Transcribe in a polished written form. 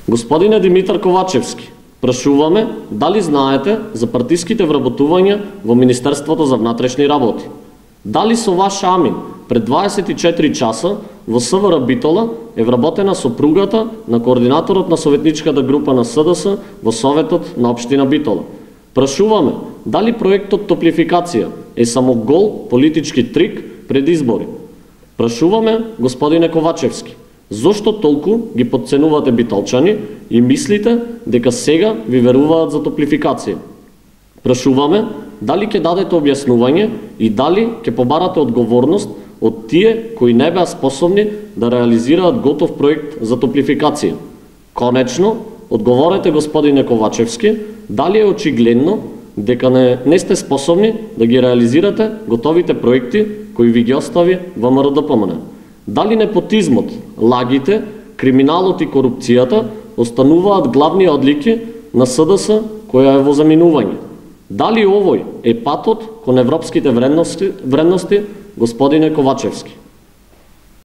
Господине Димитар Ковачевски, прашуваме дали знаете за партиските вработувања во Министерството за внатрешни работи? Дали со ваш амин пред 24 часа во СВР Битола е вработена сопругата на координаторот на советничката група на СДС во Советот на општина Битола? Прашуваме дали проектот Топлификација е само гол политички трик пред избори? Прашуваме, господине Ковачевски, зошто толку ги потценувате битолчани и мислите дека сега ви веруваат за топлификација? Прашуваме дали ќе дадете објаснување и дали ќе побарате одговорност од тие кои не беа способни да реализираат готов проект за топлификација? Конечно, одговорете, господине Ковачевски, дали е очигледно дека не сте способни да ги реализирате готовите проекти кои ви ги остави ВМРО-ДПМН? Дали непотизмот, лагите, криминалот и корупцијата остануваат главни одлики на СДС која е во заминување? Дали овој е патот кон европските вредности, господине Ковачевски?